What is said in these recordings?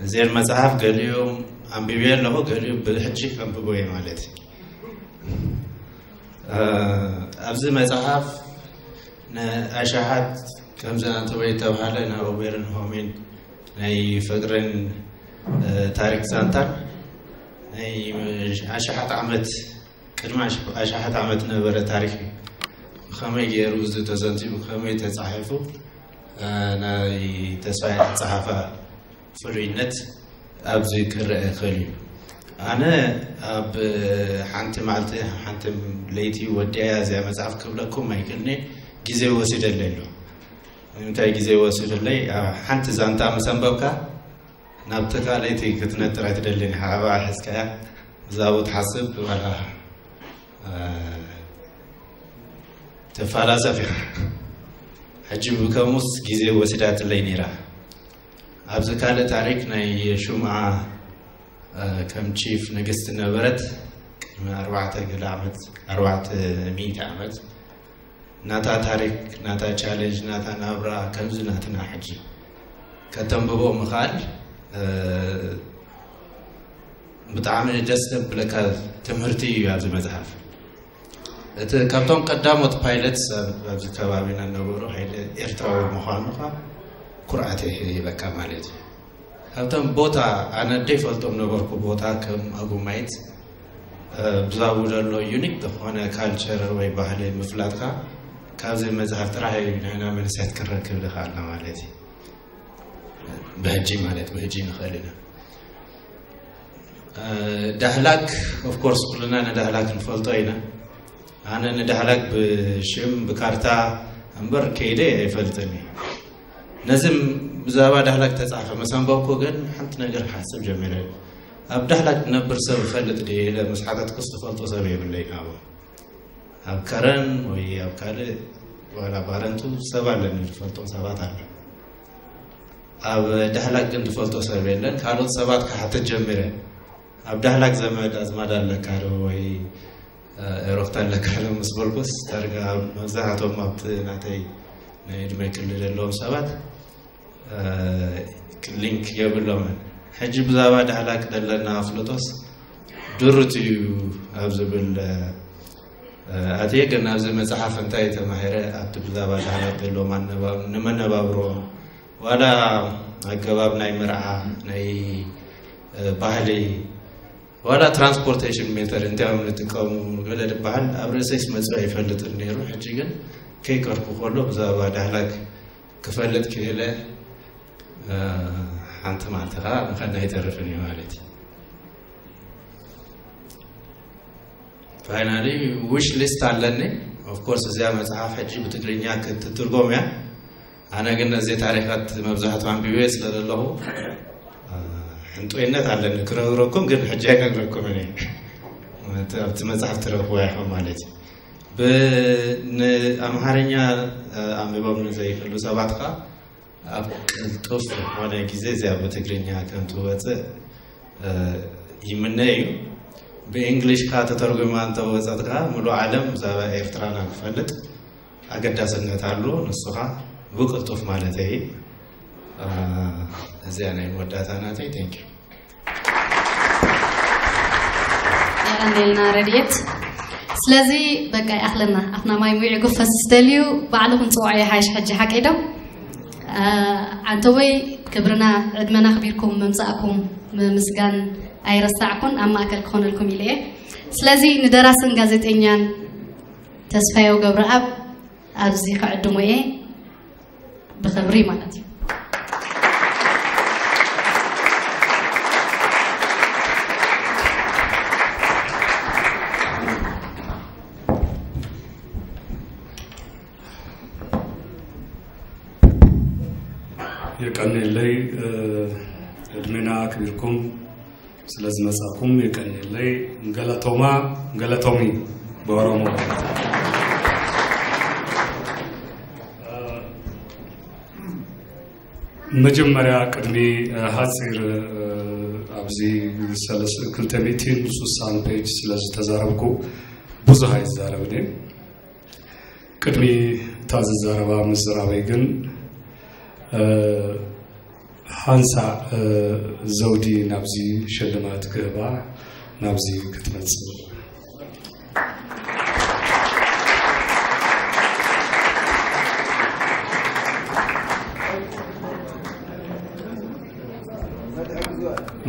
እዚአን መጽሓፍ ገሊኦም ኣንቢበ ኣለኹ፣ ገሊኦም ብሕጂ ከንብቦ እየ ማለት እዩ። ኣብዚ መጽሓፍ ንኣሽሓት ከምዚ ኣንተወይ ተባሃለ ናብ ኦቤርን ሆሜን ናይ ፍቅርን ታሪክ ዛንታን ናይ ኣሽሓት ዓመት ቅድሚ ኣሽሓት ዓመት ነበረ ታሪክ እዩ። ብኸመይ ገይሩ እዚ ተዘንቲቡ ብኸመይ ተፃሒፉ ናይ ተስፋይ ኣፀሓፋ ፍሉይነት ኣብዚ ክረአ ይኽእል እዩ። ኣነ ኣብ ሓንቲ መዓልቲ ሓንቲ ለይቲ ወዲያ እዚኣ መፅሓፍ ክብለኩም ኣይክእልኒ፣ ግዜ ወሲደለይ ኣሎ። ንምንታይ ግዜ ወሲደለይ? ሓንቲ ዛንታ ምስ ኣንበብካ ናብቲ ካልኣይቲ ክትነጥር ኣይትደልን ኢኻ። ኣብኣ ሒዝካያ ብዛኡ ትሓስብ ዋላ ትፈላሰፍ ኢኻ። ሕጂ ብከሙስ ግዜ ወሲዳትለይ ነይራ። ኣብዚ ካልእ ታሪክ ናይ ሹምዓ ከም ቺፍ ንግስቲ ነበረት ቅድሚ ኣርባዕተ ገለ ዓመት ኣርባዕተ ሚእቲ ዓመት ናታ ታሪክ ናታ ቻሌንጅ ናታ ናብራ ከምዚ ናትና ሕጂ ከተንብቦ ምኽኣል ብጣዕሚ ደስ ዘብለካ ትምህርቲ እዩ ኣብዚ መፅሓፍ። እቲ ካብቶም ቀዳሞት ፓይለት ኣብዚ ከባቢና ነበሩ ሓይሊ ኤርትራዊ ምዃኑ ኳ ኩርዓት ይበካ ማለት እዩ። ካብቶም ቦታ ኣነ ደይፈልጦም ነበርኩ ቦታ ከም ኣጉማይት ብዛቡ ዘሎ ዩኒክ ዝኾነ ካልቸር ወይ ባህሊ ምፍላጥካ ካብዚ መፅሓፍ ጥራሕ እዩ ንሕና መንስያት ክረክብ ዝኽኣልና ማለት እዩ። ብሕጂ ማለት ብሕጂ ንኽእል ኢና። ዳህላክ ኦፍኮርስ ኩልና ንዳህላክ ንፈልጦ ኢና። ኣነ ንዳህላክ ብሽም ብካርታ እምበር ከይደ ኣይፈልጥን እዩ። ነዚ ብዛዕባ ዳህላክ ተፃሕፈ መሰንበብኩ ግን ሓንቲ ነገር ክሓስብ ጀሚረ። ኣብ ዳህላክ ዝነብር ሰብ ይፈልጥ ድየ ኢለ ምስ ሓተትኩስ ዝፈልጦ ሰብ የብለይ ናብኡ። ኣብ ከረን ወይ ኣብ ካልእ ዋላ ባረንቱ ሰብ ኣለኒ ዝፈልጦም ሰባት ኣሎ። ኣብ ዳህላክ ግን ዝፈልጦ ሰብ የለን። ካልኦት ሰባት ክሓትት ጀሚረ። ኣብ ዳህላክ ዘመድ ኣዝማድ ኣለካ ዶ ወይ ኤሮክታ ኣለካ ዶ ምስ በልኩስ ዳርጋ መብዛሕትኦም ኣብቲ ናተይ ናይ ዕድመ ክልል ዘለዎም ሰባት ሊንክ የብሎምን። ሕጂ ብዛዕባ ዳህላክ ዘለና ኣፍልጦስ ድሩት እዩ ኣብ ዝብል ኣትየ ግን ኣብዚ መፅሓፍ እንታይ ተማሂረ ኣብቲ ብዛዕባ ዳህላክ ዘለዎም ኣነባብ ንመነባብሮ ዋላ ኣገባብ ናይ መርዓ ናይ ባህሊ ዋላ ትራንስፖርቴሽን ሜተድ እንታይ እዮም ንጥቀሙ ገለ ዝበሃል ኣብ ርእሰይስ መፅኡ ኣይፈልጥን ነይሩ። ሕጂ ግን ከይቀርኩ ከሎ ብዛዕባ ዳህላክ ክፈልጥ ክኢለ ሓንቲ መዓልቲ ከዓ ምኸና ኣይተርፍን እዩ ማለት እዩ። ፋይናሊ ዊሽ ሊስት ኣለኒ። ኦፍኮርስ እዚኣ መፅሓፍ ሕጂ ብትግርኛ ክትትርጎም እያ። ኣነ ግን ነዚ ታሪኻት መብዛሕቱ ኣንቢበ ስለ ዘለኹ ሕንጦይነት ኣለኒ ክነግረኩም፣ ግን ሕጂ ኣይነግረኩምን እየ። ኣብቲ መፅሓፍ ትረኽቦ ኢኹም ማለት እዩ። ብንኣምሃርኛ ኣንቢቦም ንዘይክእሉ ሰባት ከዓ ኣብ ቅልጡፍ ዝኾነ ግዜ እዚኣ ብትግርኛ ከም ትወፅእ ይምነ እዩ። ብእንግሊሽ ከዓ ተተርጉማ እንተወፀት ከዓ ሙሉእ ዓለም ብዛዕባ ኤርትራና ክፈልጥ ኣገዳስነት ኣሎ። ንሱ ከዓ ብቅልጡፍ ማለት እዩ። እዚኣ ናይ መወዳእታ ናተይ። ቴንክ ዩ። የቐንየልና ረድኤት። ስለዚ በቃ ይኣኽለና፣ ኣፍና ማይ ሙዒ ጉፈስ ዝደልዩ ባዕልኹም ፅውዖ ይሓይሽ። ሕጂ ሓቀይ ዶ? ኣንተወይ ክብርና ዕድመና ኣኽቢርኩም ምምፃእኩም ምምስጋን ኣይረሳዕኩን፣ ኣብ ማእከል ክኾነልኩም ኢለ እየ። ስለዚ ንደራስን ጋዜጠኛን ተስፋየው ገብረኣብ ኣብዚ ክዕድሞ እየ። ብኽብሪ ማለት እዩ። የቀንየለይ። ዕድሜና ኣክቢርኩም ስለ ዝመጻኩም የቀንየለይ። ገለቶማ፣ ገለቶሚ ብኦሮሞ። መጀመርያ ቅድሚ፣ እ፣ ሓጺር፣ እ፣ ኣብዚ ሰለስ-፣ ክልተ ሚእትን ስሳን ፔጅ ስለ ዝተዛረብኩ ብዙሕ ኣይዛረብን እየ። ቅድሚ እታ ዝዛረባ ምዝራበይ ግን፣ እ፣ ሓንሳእ፣ እ፣ ዘውዲ ናብዚ ሽልማት ክህባ ናብዚ ክትመጽእ።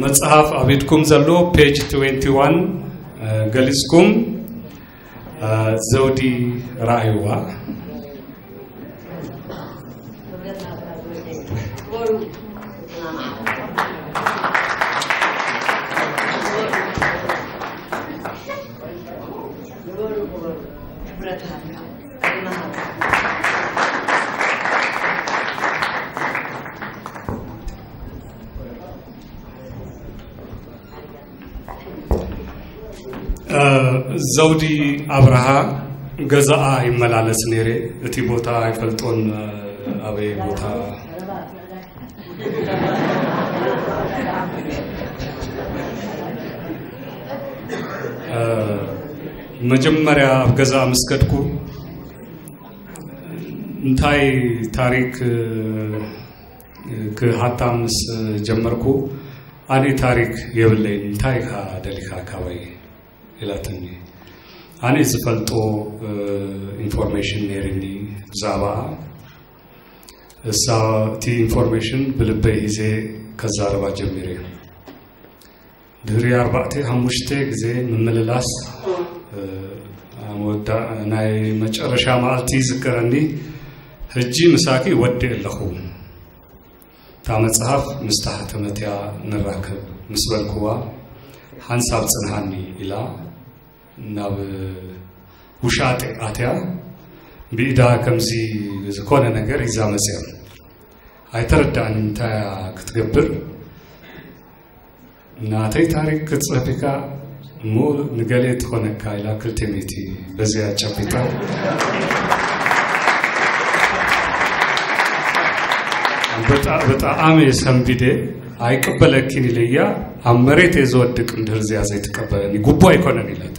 መጽሓፍ ኣብ ኢድኩም ዘሎ ፔጅ ትዌንቲ ዋን፣ እ፣ ገሊጽኩም፣ እ፣ ዘውዲ ረኣይዋ። እ፣ ዘውዲ ኣብርሃ ገዛኣ ይመላለስ ነይረ። እቲ ቦታ ኣይፈልጦን፣ እ፣ ኣበይ ቦታ። እ፣ መጀመርያ ኣብ ገዛኣ ምስ ከድኩ እንታይ ታሪክ፣ እ፣ ክሓታ ምስ ጀመርኩ፣ ኣነ ታሪክ የብለይን፣ እንታይ ኢኻ ደሊኻ ካባይ ኢላትኒ። ኣነ ዝፈልጦ፣ እ፣ ኢንፎርሜሽን ነይርኒ ብዛዕባኣ። እሳ እቲ ኢንፎርሜሽን ብልበይ ሂዘ ከዛረባ ጀሚረ። ድሕሪ ኣርባዕተ ሓሙሽተ ግዜ ምምልላስ፣ እ፣ ኣብ መወዳ-፣ ናይ መጨረሻ መዓልቲ ይዝከረኒ፣ "ሕጂ ምሳኪ ወዲእ ኣለኹ፣ እታ መጽሓፍ ምስ ተሓተመት እያ ንራከብ" ምስ በልክዋ፣ "ሓንሳብ ጽንሓኒ" ኢላ ናብ ውሻጠ ኣትያ፣ ብኢዳ ከምዚ ዝኾነ ነገር ሒዛ መጽያ። ኣይተረዳእን እንታይ እያ ክትገብር። "ናተይ ታሪክ ክትጽሕፍ ኢኻ እሞ ንገሌ ትኾነካ" ኢላ ክልተ ሚእቲ በዚኣ ጨቢጣ። ብጣ-፣ ብጣዕሚ ሰንቢደ፣ "ኣይቅበለኪን" ኢለያ፣ "ኣብ መሬት እየ ዝወድቅ እንድህር እዚኣ ዘይትቀበለኒ፣ ጉቦ ኣይኮነን" ኢላት።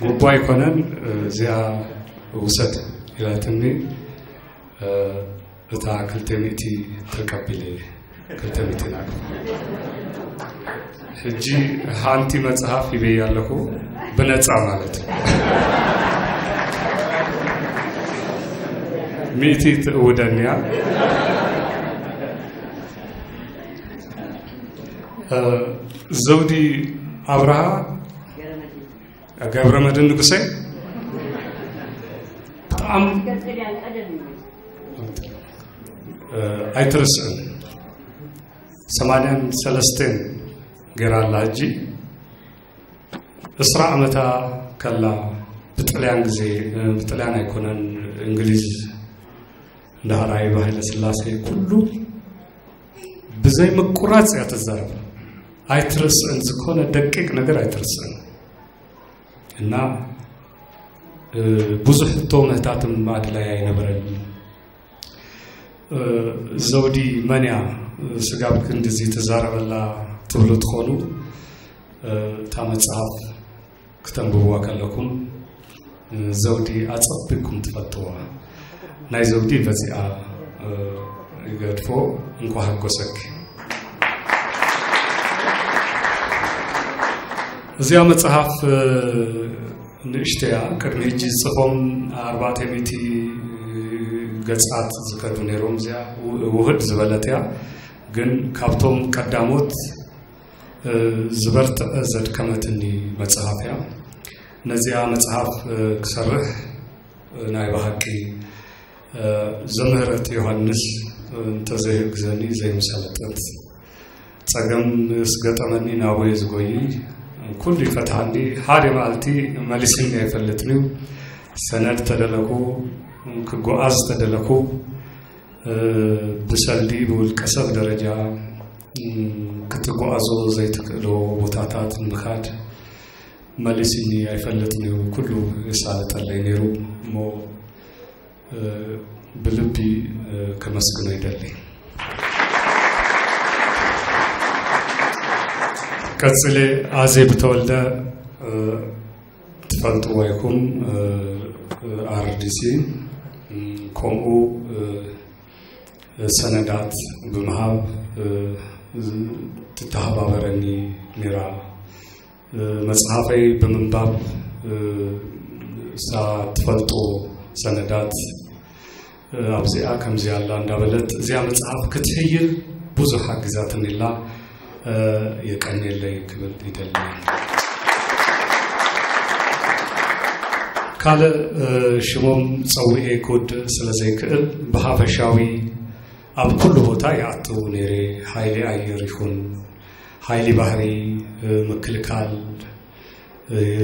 "ጉቦ ኣይኮነን፣ እዚኣ ውሰድ" ኢላትኒ። እ፣ እታ ክልተ ሚእቲ ተቀቢለ፣ ክልተ ሚእቲ ናት። ሕጂ ሓንቲ መጽሓፍ ሂበያ ኣለኹ፣ ብነጻ ማለት። ሚእቲ ትእውደንያ። እ፣ ዘውዲ ኣብርሃ፣ ገብረ መድህን ንጉሰ፣ ብጣዕሚ፣ እ፣ ኣይትርስዕን። ሰማንያን ሰለስተን ገይራ ኣላ። ሕጂ ዕስራ ዓመታ ከላ ብጥልያን ግዜ፣ ብጥልያን ኣይኮነን፣ እንግሊዝ እንዳሃራይ ሃይለ ስላሴ ኩሉ ብዘይ ምቁራጽ እያ ትዛረብ። ኣይትርስዕን፣ ዝኾነ ደቂቅ ነገር ኣይትርስዕን። እና፣ እ፣ ብዙሕ ሕቶ ምህታትም ኣድላይ ኣይነበረን። እ፣ ዘውዲ መን እያ ስጋብ ክንድዚ ትዛረበላ ትብሉ ትኾኑ። እ፣ እታ መጽሓፍ ክተንብብዋ ከለኩም፣ እ፣ ዘውዲ ኣጸቢቅኩም ትፈልጥዋ። ናይ ዘውዲ በዚኣ፣ እ፣ ይገድፎ። እንኳ ሃጎሰኪ። እዚኣ መጽሓፍ፣ እ፣ ንእሽተያ፣ ቅድሚ ሕጂ ዝጽፎም ኣርባዕተ ሚእቲ ገጻት ዝከዱ ነይሮም። እዚኣ ው-፣ ውህድ ዝበለት እያ። ግን ካብቶም ቀዳሞት፣ እ፣ ዝበርትዐ ዘድከመትኒ መጽሓፍ እያ። ነዚኣ መጽሓፍ፣ እ፣ ክሰርሕ፣ እ፣ ናይ ብሓቂ፣ እ፣ ዘምህረት ዮሃንስ፣ እ፣ እንተዘይህግዘኒ ዘይምሰለጠት። ጸገም ምስ ገጠመኒ ናቡየ ዝጎይ፣ ኩሉ ይፈትሓኒ። ሓደ መዓልቲ መሊስኒ ኣይፈልጥን እዩ። ሰነድ ተደለኩ፣ ክጓዓዝ ተደለኩ፣ እ፣ ብሰልዲ ብውልቀ ሰብ ደረጃ ክትጓዓዞ ዘይትክእሎ ቦታታት ንምኻድ መሊስኒ ኣይፈልጥን እዩ። ኩሉ የሳልጠለይ ነይሩ። እሞ ብልቢ ከመስግኖ ይደሊ። ቀጽለ፣ ኣዜብ ተወልደ፣ ትፈልጥዎ ኢኹም፣ ኣርዲሲ፣ ከምኡ ሰነዳት ብምሃብ ትተሃባበረኒ ነይራ። መጽሓፈይ ብምንባብ እሳ ትፈልጦ ሰነዳት ኣብዚኣ ከምዚኣ ኣላ እንዳበለት እዚኣ መጽሓፍ ክትሕይል ብዙሕ ሓጊዛትኒ ኣላ። የቀንየለይ ክብል ይደሊ። ካልእ ሽሞም ጸዊኤ ክውድእ ስለ ዘይክእል ብሓፈሻዊ ኣብ ኩሉ ቦታ ይኣቱ ነይረ። ሓይሊ ኣየር ይኹን ሓይሊ ባህሪ፣ ምክልካል፣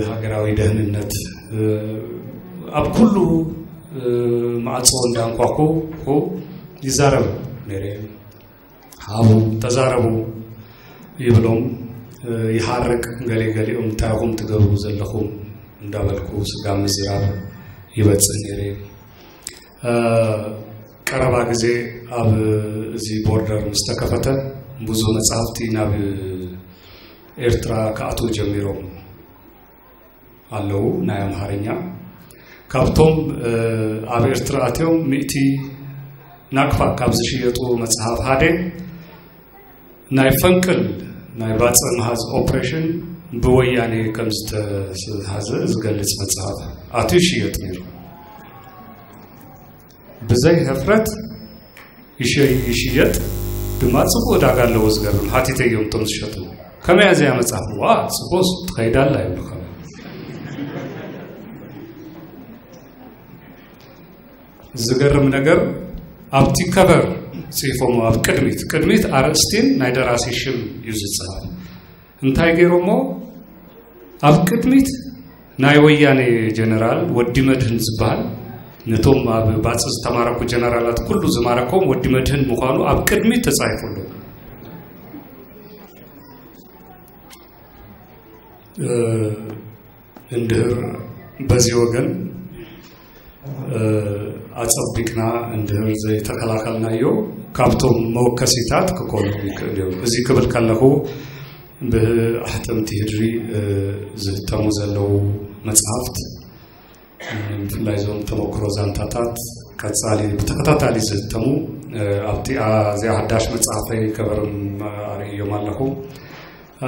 ሃገራዊ ደህንነት፣ ኣብ ኩሉ ማዕጾ እንዳንኳኩ ይዛረብ ነይረ። ሃቡ፣ ተዛረቡ ይብሎም፣ ይሃርቅ። ገለ ገሊኦም እንታይ ኢኹም ትገብሩ ዘለኹም እንዳበልኩ ስጋብ ምዝራብ ይበጽሕ ነይረ። ቀረባ ግዜ ኣብ እዚ ቦርደር ምስ ተከፈተ ብዙ መጽሓፍቲ ናብ ኤርትራ ክኣትዉ ጀሚሮም ኣለዉ፣ ናይ ኣምሃርኛ። ካብቶም ኣብ ኤርትራ ኣትዮም ሚእቲ ናቅፋ ካብ ዝሽየጡ መጽሓፍ ሓደ ናይ ፈንቅል ናይ ባጽዕ ምሃዝ ኦፕሬሽን ብወያኔ ከም ዝተሃዘ ዝገልጽ መጽሓፍ ኣትዩ ይሽየጥ ነይሩ። ብዘይ ህፍረት ይሸ-፣ ይሽየጥ ድማ ጽቡቅ ዕዳጋ ኣለዎ። ዝገርም፣ ሓቲተዮም እቶም ዝሸጡ፣ "ከመይ እያ እዚኣ መጽሓፍ?" "ዋ፣ ጽቡቅ ትኸይድ ኣላ" ይብሉ። ከመይ ዝገርም ነገር፣ ኣብቲ ከቨር ጽሒፎሞ፣ ኣብ ቅድሚት፣ ቅድሚት ኣርእስቲን ናይ ደራሲ ሽም እዩ ዝጽሓፍ። እንታይ ገይሮሞ? ኣብ ቅድሚት ናይ ወያኔ ጀነራል ወዲ መድህን ዝበሃል፣ ነቶም ኣብ ባጽዕ ዝተማረኩ ጀነራላት ኩሉ ዝማረኮም ወዲ መድህን ምዃኑ ኣብ ቅድሚት ተጻሒፉሉ። እ፣ እንድህር በዚ ወገን፣ እ፣ ኣጸቢቅና እንድህር ዘይተከላኸልናዮ፣ ካብቶም መወከሲታት ክኮኑ ይክእል እዮም። እዚ ክብል ከለኹ፣ ብኣሕተምቲ ህድሪ፣ እ፣ ዝህተሙ ዘለዉ መጽሓፍት፣ እ፣ ብፍላይ እዞም ተመክሮ ዛንታታት ቀጻሊ ብተኸታታሊ ዝህተሙ፣ እ፣ ኣብቲ፣ ኣ-፣ እዚኣ ሓዳሽ መጽሓፈይ ከበርም ኣርእዮም ኣለኹ።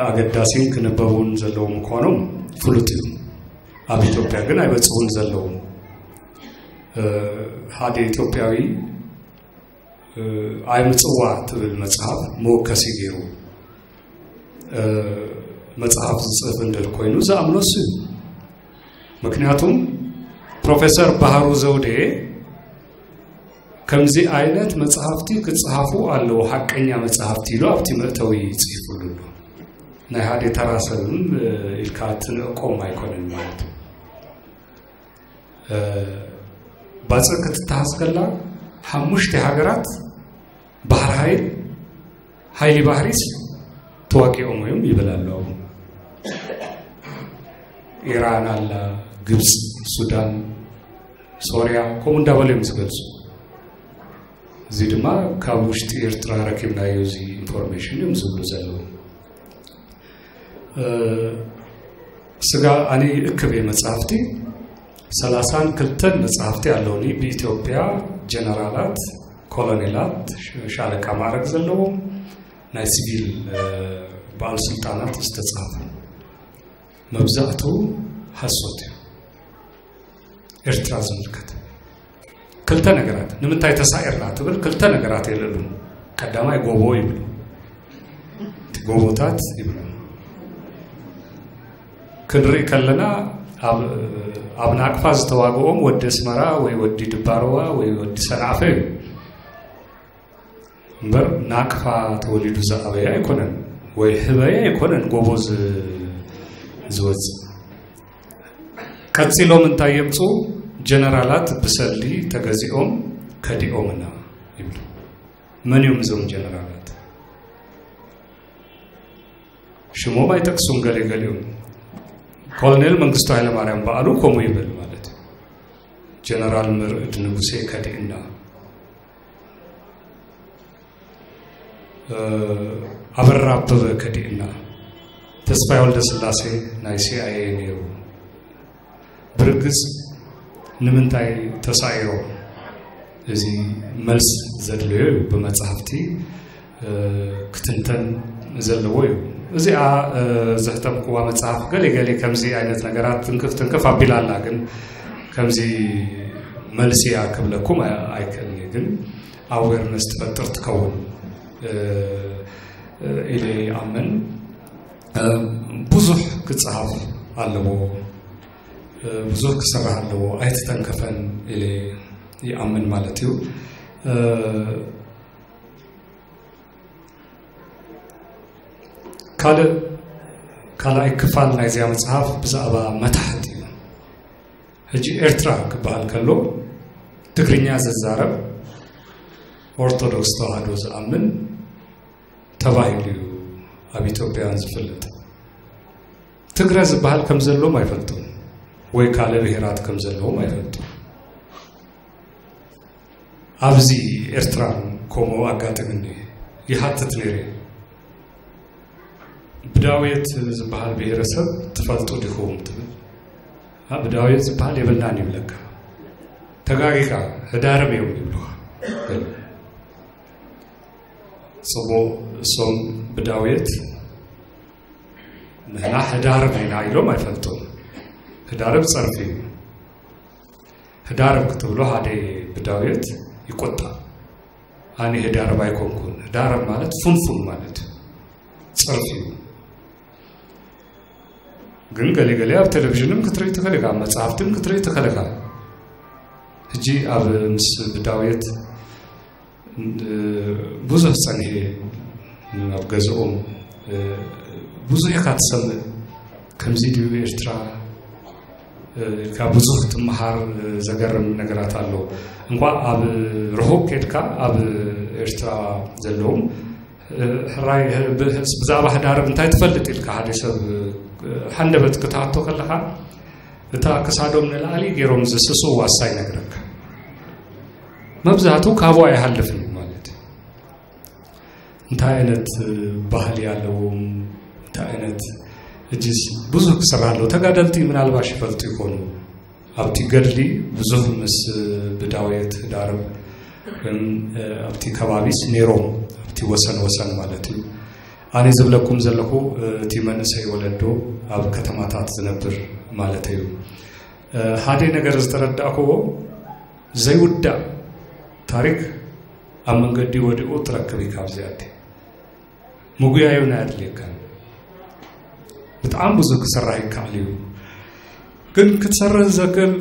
ኣገዳሲን ክንበቡን ዘለዎም ምዃኖም ፍሉጥ እዩ። ኣብ ኢትዮጵያ ግን ኣይበጽሑን ዘለዉ። እ፣ ሓደ ኢትዮጵያዊ፣ እ፣ ኣይምጽዋ ትብል መጽሓፍ መወከሲ ገይሩ፣ እ፣ መጽሓፍ ዝጽሕፍ እንድህር ኮይኑ ዝኣምኖ እሱ እዩ። ምክንያቱም ፕሮፌሰር ባህሩ ዘውዴ ከምዚ ዓይነት መጽሓፍቲ ክጽሓፉ ኣለዉ፣ ሓቀኛ መጽሓፍቲ ኢሉ ኣብቲ መእተዊ ጽሒፉሉ ኣሎ። ናይ ሓደ ተራ ሰብም፣ እ፣ ኢልካ ትንዕቆም ኣይኮነን ማለት እዩ። እ፣ ባጽዕ ክትተሃዝ ከላ ሓሙሽተ ሃገራት ባሕሪ ሓይል፣ ሓይሊ ባሕሪስ ተዋጊኦም እዮም ይብል ኣሎ። ኢራን ኣላ፣ ግብጽ፣ ሱዳን፣ ሶርያ፣ ከምኡ እንዳበሉ እዮም ዝገልጹ። እዚ ድማ ካብ ውሽጢ ኤርትራ ረኪብናዮ፣ እዚ ኢንፎርሜሽን እዮም ዝብሉ ዘለዉ። እ፣ ስጋ ኣነ ይእክብ እየ መጽሓፍቲ። ሰላሳን ክልተን መጽሓፍቲ ኣለውኒ ብኢትዮጵያ ጀነራላት፣ ኮሎኔላት፣ ሻለቃ ማዕረግ ዘለዎም ናይ ሲቪል፣ እ፣ በዓል ስልጣናት ዝተጻፉ። መብዛሕቱ ሓሶት እዩ። ኤርትራ ዝምልከት ክልተ ነገራት፣ ንምንታይ ተሳኢርና ትብል ክልተ ነገራት የልዕሉ። ቀዳማይ ጎቦ ይብሉ፣ እቲ ጎቦታት ይብሉ። ክንርኢ ከለና ኣብ፣ ኣብ ናቅፋ ዝተዋግኦም ወዲ ኣስመራ ወይ ወዲ ድባርዋ ወይ ወዲ ሰንዓፈ እዩ። እምበር ናቅፋ ተወሊዱ ዝኣበየ ኣይኮነን፣ ወይ ህበየ ኣይኮነን ጎቦ ዝ-፣ ዝወጽእ። ቀጺሎም እንታይ የምጽኡ? ጀነራላት ብሰልዲ ተገዚኦም ከዲኦምና ይብሉ። መን እዮም እዞም ጀነራላት? ሽሞም ኣይጠቅሱን። ገለ ገሊኦም ኮሎኔል መንግስቱ ኃይለማርያም በዓሉ ከምኡ ይብል ማለት እዩ። ጀነራል መርዕድ ንጉሴ ከዲእና፣ ኣበራ ኣበበ ከዲእና፣ ተስፋይ ወልደ ስላሴ ናይ ሲኣይኤ ነይሩ። ብርግጽ ንምንታይ ተሳኢሮም? እዚ መልስ ዘድልዮ እዩ። ብመጽሓፍቲ ክትንተን ዘለዎ እዩ። እዚኣ ዘሕተምክዋ መጽሓፍ ገለ ገለ ከምዚ ዓይነት ነገራት ትንክፍ ትንክፍ ኣቢላ ኣላ። ግን ከምዚ መልሲ እያ ክብለኩም ኣይክእልኒ። ግን ኣዌርነስ ትፈጥር ትከውን ኢለ ይኣምን። ብዙሕ ክጸሃፍ ኣለዎ፣ ብዙሕ ክስራሕ ኣለዎ፣ ኣይተተንከፈን ኢለ ይኣምን ማለት እዩ። ካልእ ካልኣይ ክፋል ናይዚኣ መጽሓፍ ብዛዕባ መታሕት እዩ። ሕጂ ኤርትራ ክበሃል ከሎ ትግርኛ ዝዛረብ ኦርቶዶክስ ተዋህዶ ዝኣምን ተባሂሉ እዩ ኣብ ኢትዮጵያውያን ዝፍለጥ። ትግረ ዝበሃል ከም ዘለዎም ኣይፈልጡን ወይ ካልእ ብሄራት ከም ዘለዎም ኣይፈልጡን። ኣብዚ ኤርትራ ከምኡ ኣጋጥምኒ ይሃትት ነይረ። ብዳውየት ዝበሃል ብሄረሰብ ትፈልጡ ዲኹም ትብል። ብዳውየት ዝበሃል የብልናን ይብለካ። ተጋጊኻ፣ ህዳርብ እዮም ይብሉኻ። ጽቡቕ፣ እሶም ብዳውየት ንሕና ህዳርብ ኢና ኢሎም ኣይፈልጡን። ህዳርብ ጸርፊ እዩ። ህዳርብ ክትብሎ ሓደ ብዳውየት ይቆጣ። ኣነ ህዳርብ ኣይኮንኩን። ህዳርብ ማለት ፉንፉን ማለት እዩ። ጸርፊ እዩ። ግን ገለ ገለ ኣብ ቴሌቪዥንም ክትርኢ ትኽእል ኢኻ፣ ኣብ መጽሓፍትን ክትርኢ ትኽእል ኢኻ። ሕጂ ኣብ ምስ ብዳውየት ብዙሕ ጸኒሐ ኣብ ገዝኦም ብዙሕ ኢኻ ትሰምዕ። ከምዚ ድዩ ኤርትራ ኢልካ ብዙሕ ትመሃር። ዘገርም ነገራት ኣሎ። እንኳ ኣብ ርሑቅ ከድካ ኣብ ኤርትራ ዘለዎም ሕራይ ብዛዕባ ህዳርብ እንታይ ትፈልጥ ኢልካ ሓደ ሰብ ሓንደበት ክትሓቶ ከለኻ እታ ክሳዶም ንላዕሊ ገይሮም ዝስስው ዋሳ ይነግረካ። መብዛሕትኡ ካብኡ ኣይሃልፍን እዩ ማለት እዩ። እንታይ ዓይነት ባህሊ ኣለዎም፣ እንታይ ዓይነት እጅስ ብዙሕ ክስራሕ ኣለዎ። ተጋደልቲ ምናልባሽ ይፈልጡ ይኾኑ። ኣብቲ ገድሊ ብዙሕ ምስ ብዳውየት ህዳርብ ወይም ኣብቲ ከባቢስ ነይሮም ኣብቲ ወሰን ወሰን ማለት እዩ። ኣነ ዝብለኩም ዘለኹ እቲ መንእሰይ ወለዶ ኣብ ከተማታት ዝነብር ማለት እዩ። ሓደ ነገር ዝተረዳእክዎ ዘይውዳእ ታሪክ ኣብ መንገዲ ወዲቑ ትረክብ እዩ። ካብዚ ኣደ ምጉያዩ ናይ ኣድልየካ ብጣዕሚ ብዙሕ ክስራሕ ይከኣል እዩ። ግን ክትሰርህ ዘክል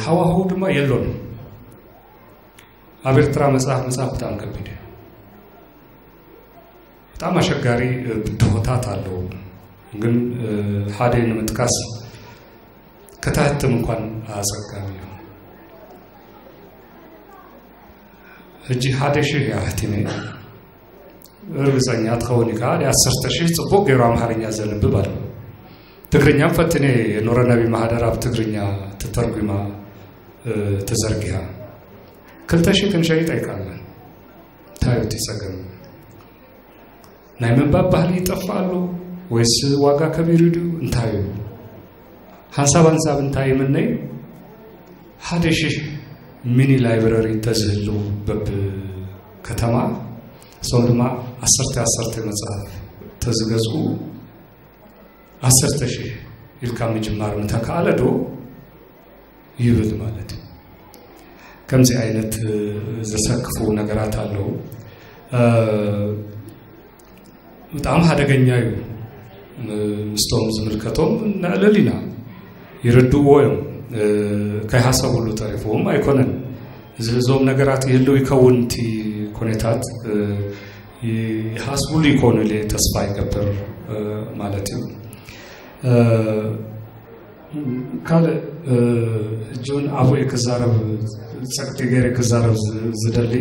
ሃዋህው ድማ የሎን። ኣብ ኤርትራ መጽሓፍ መጽሓፍ ብጣዕሚ ከቢድ እዩ። ብጣዕሚ ኣሸጋሪ ብድሆታት ኣለዉ። ግን ሓደ ንምጥቃስ ከተህትም እንኳን ኣጸጋሚ እዩ። ሕጂ ሓደ ሽሕ እያ ሕቲመ። ርግጸኛ ትኸውን ኢኻ። ዓሰርተ ሽሕ ጽቡቕ ገይሩ ኣምሓርኛ ዘንብብ ኣሎ። ትግርኛም ፈትነ። የኖረ ነቢ ማህደር ኣብ ትግርኛ ተተርጉማ ተዘርጊሃ። ክልተ ሽሕ ክንሸይጥ ኣይከኣልናን። እንታይ እዩ እቲ ጸገም? ናይ ምንባብ ባህሊ ይጠፍእ ኣሎ ወይስ ዋጋ ከቢሩ ድዩ? እንታይ እዩ? ሓንሳብ ሓንሳብ እንታይ ይምነይ፣ ሓደ ሽሕ ሚኒ ላይብረሪ እንተዝህልው በብ ከተማ፣ እሶም ድማ ዓሰርተ ዓሰርተ መጽሓፍ ተዝገዝኡ ዓሰርተ ሽሕ ኢልካ ምጅማር ምተካኣለ ዶ ይብል ማለት እዩ። ከምዚ ዓይነት ዘሰክፉ ነገራት ኣለዉ። ብጣዕሚ ሓደገኛ እዩ። ምስቶም ዝምልከቶም ነዕልል ኢና። ይርድእዎ እዮም። ከይሃሰብሉ ተሪፍዎም ኣይኮነን። እዚ እዞም ነገራት ይህልው ይከውን እቲ ኩነታት ይሃስብሉ ይኮኑ ኢለ ተስፋ ይገብር ማለት እዩ። ካልእ ሕጂ እውን ኣብኡ ክዛረብ ጸቅጢ ገይረ ክዛረብ ዝደሊ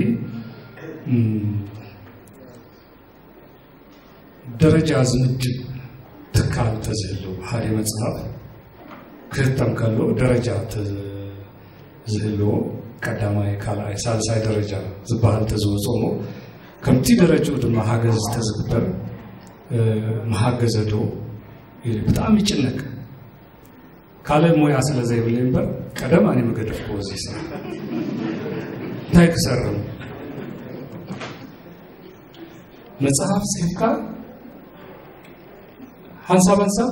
ደረጃ ዝምድብ ትካል ተዝህልው፣ ሓደ መጽሓፍ ክህተም ከሎ ደረጃ ተ- ዝህልዎ፣ ቀዳማይ፣ ካልኣይ፣ ሳልሳይ ደረጃ ዝበሃል ተዝወፅኦ እሞ፣ ከምቲ ደረጃኡ ድማ ሓገዝ ተዝግበር፣ እ፣ ምሓገዘ ዶ ኢሉ ብጣዕሚ ይጭነቅ። ካልእ ሞያ ስለ ዘይብለይ እምበር፣ ቀደም ኣነ ምገደፍክዎ እዚ ስራሕ። እንታይ ክሰርም? መጽሓፍ ጽሒፍካ ሓንሳብ ሓንሳብ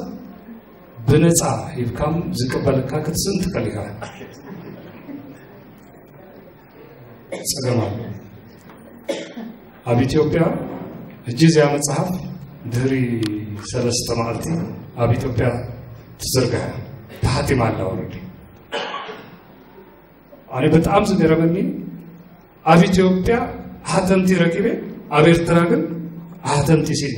ብነጻ ሂብካም ዝቅበለካ ክትስእን ትኽእል ኢኻ። ጸገም ኣሎ። ኣብ ኢትዮጵያ ሕጂ እዚኣ መጽሓፍ ድህሪ ሰለስተ መዓልቲ ኣብ ኢትዮጵያ ትዝርጋሕ፣ ተሓቲማ ኣላ። ወረዲ ኣነ በጣም ዝገረመኒ፣ ኣብ ኢትዮጵያ ሓተምቲ ረኪበ፣ ኣብ ኤርትራ ግን ሓተምቲ ሲለ።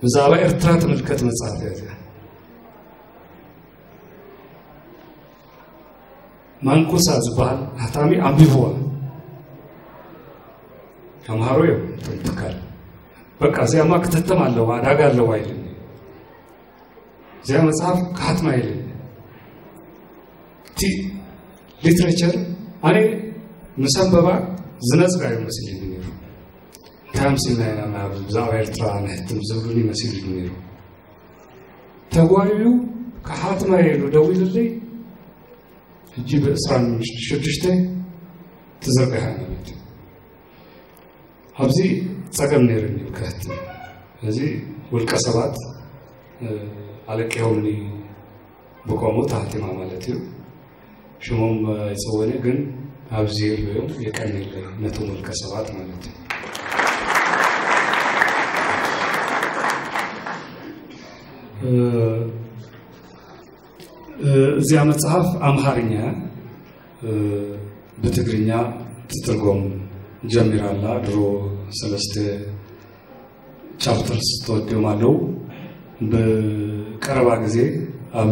ብዛዕባ ኤርትራ ትምልከት መጽሓፍ እያ እዚኣ። ማንኩሳ ዝበሃል ሓታሚ ኣንቢብዋ። ተምሃሮ እዮም እቶም ትካል። በቃ እዚኣማ ክትህተም ኣለዋ፣ ዕዳጋ ኣለዋ ኢሉኒ። እዚኣ መጽሓፍ ክሓትማ ኢለ። እቲ ሊትሬቸር ኣነ ምስ ኣንበባ ዝነጽጋ እዩ መሲሉኒ ነይሩ። እንታይ ኣምሲልና ኢና ናብ ብዛዕባ ኤርትራ ንሕትም ዝብሉኒ መሲሉኒ ነይሩ። ተጓዩ ክሓትማ ኢሉ ደዊሉለይ። ሕጂ ብ ዕስራን ሽዱሽተ ትዝርጋሕ ማለት እዩ። ኣብዚ ጸገም ነይሩኒ ክሕትም። እዚ ውልቀ ሰባት፣ እ፣ ኣለቂሆምኒ ብቆሙ ተሃቲማ ማለት እዩ። ሽሞም ኣይጸወነ ግን ኣብዚ ይርበዮም የቀንየለይ ነቶም ውልቀ ሰባት ማለት እዩ። እ፣ እ፣ እዚኣ መጽሓፍ ኣምሃርኛ፣ እ፣ ብትግርኛ ትትርጎም ጀሚራ ኣላ። ድሮ ሰለስተ ቻፕተርስ ተወዲኦም ኣለዉ። ብቀረባ ግዜ ኣብ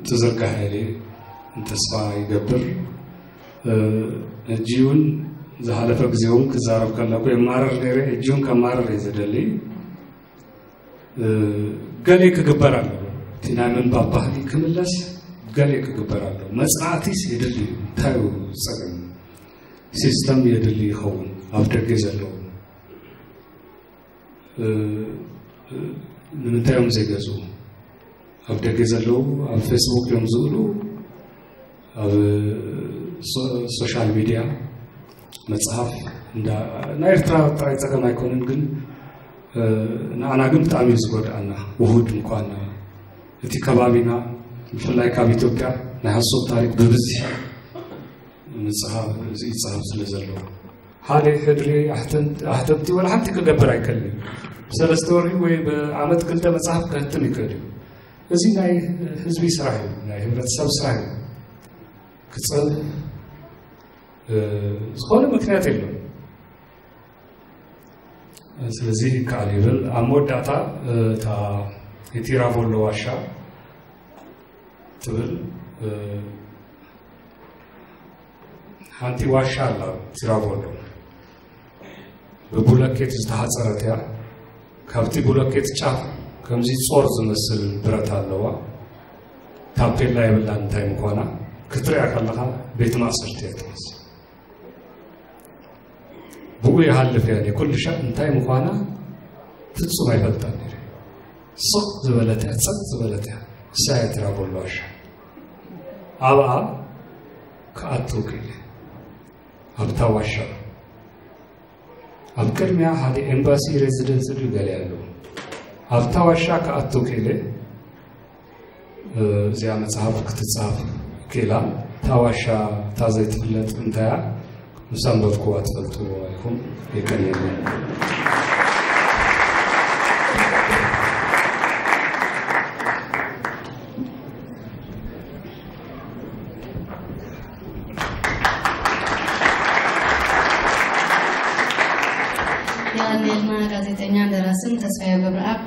ትዝርጋሕ ኢለ ተስፋ ይገብር። እ፣ ሕጂ እውን ዝሓለፈ ግዜ እውን ክዛረብ ከለኩ የማርር ነይረ፣ ሕጂ እውን ከማርር እየ ዝደሊ። እ፣ ገሌ ክግበር ኣለዎ። እቲ ናይ ምንባብ ባህሊ ክምለስ ገሌ ክግበር ኣለዎ። መጽናዕቲስ የድሊ እዩ። እንታይ እዩ ጸገም? ሲስተም የድሊ ይኸውን። ኣብ ደገ ዘለዉ፣ እ፣ እ፣ ንምንታይ እዮም ዘይገዝኡ? ኣብ ደገ ዘለዉ ኣብ ፌስቡክ እዮም ዝብሉ። ኣብ ሶ-፣ ሶሻል ሚድያ መጽሓፍ እንዳ-፣ ናይ ኤርትራ ጥራይ ጸገም ኣይኮነን፣ ግን፣ እ፣ ንኣና ግን ብጣዕሚ እዩ ዝጎድኣና። ውሁድ ምኳንና፣ እቲ ከባቢና፣ ብፍላይ ካብ ኢትዮጵያ ናይ ሃሶት ታሪክ ብብዝሒ ምጽሓፍ፣ ዝጽሓፍ ስለ ዘለዎ፣ ሓደ ሕድሪ ኣሕተምቲ፣ ኣሕተምቲ ወላ ሓንቲ ክገብር ኣይከልን እዩ። ብሰለስተ ወርሒ ወይ ብዓመት ክልተ መጽሓፍ ከህትም ይክእል እዩ። እዚ ናይ ህዝቢ ስራሕ እዩ፣ ናይ ህብረተሰብ ስራሕ እዩ። ክጸብ፣ እ፣ ዝኾነ ምክንያት የለን። ስለዚ ይከኣል ይብል። ኣብ መወዳእታ፣ እ፣ እታ የቲራቮሎ ዋሻ ትብል፣ እ፣ ሓንቲ ዋሻ ኣላ ቲራቮሎ። ብቡለኬት ዝተሓጸረት እያ። ካብቲ ቡለኬት ጫፍ ከምዚ ጾር ዝመስል ብረት ኣለዋ። ታፔላ የብላን እንታይ ምዃና። ክትሪኣ ከለኻ ቤት ማእሰርቲ እያ ትመስል። ብኡ ይሃልፍ እያ። ኩሉ ሻዕ እንታይ ምዃና ፍጹም ኣይፈልጣን ነይረ። ስቕ ዝበለት እያ፣ ጸጥ ዝበለት እያ። እሳ እያ ቲራቮሎ ዋሻ። ኣብኣ ክኣቱ ክኢለ። ኣብታ ዋሻ። ኣብ ቅድሚያ ሓደ ኤምባሲ ሬዚደንስ ድዩ ገለ ኣለዎ። ኣብታ ዋሻ ክኣቱ ክኢለ። እ፣ እዚኣ መጽሓፍ ክትጻፍ ክኢላ። እታ ዋሻ እታ ዘይትፍለጥ እንታይ እያ? ምስ ኣንበብክዋ ትፈልጥዎ ኢኹም። የቀንየልና። የቐንየልና ጋዜጠኛን ደራስን ተስፋዬ ገብረኣብ።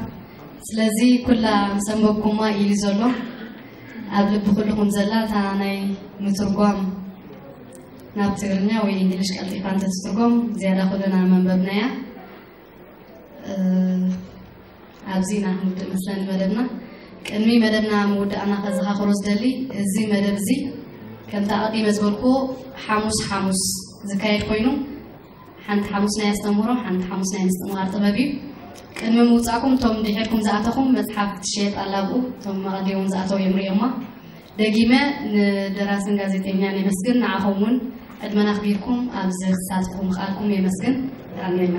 ስለዚ ኩላ ምስ ኣንበብኩማ ኢሉ ዘሎ ኣብ ልቢ ኩልኹም ዘላ እታ ናይ ምትርጓም ናብ ትግርኛ ወይ እንግሊሽ ቀልጢፋ እንተትትርጎም ዝያዳ ኩልና መንበብናያ። ኣብዚ ኢና ክንውድእ መስለኒ መደብና። ቅድሚ መደብና ምውዳእና ከዘኻኽሮ ዝደሊ፣ እዚ መደብ እዚ ከምቲ ኣቐዲመ ዝበልኩዎ ሓሙስ ሓሙስ ዝካየድ ኮይኑ፣ ሓንቲ ሓሙስ ናይ ኣስተምህሮ፣ ሓንቲ ሓሙስ ናይ ምስትምሃር ጥበብ እዩ። ቅድሚ ምውጻእኩም እቶም ድሒርኩም ዝኣተኹም መጽሓፍ ክትሸየጥ ኣላ ኣብኡ፣ እቶም ኣቐዲሞም ዝኣተው እዮም ርእዮማ። ደጊመ ንደራስን ጋዜጠኛን የመስግን፣ ንዓኹም እውን ዕድመና ኣኽቢርኩም ኣብዚ ክሳትፍኩም ምኽኣልኩም የመስግን። ኣሜና።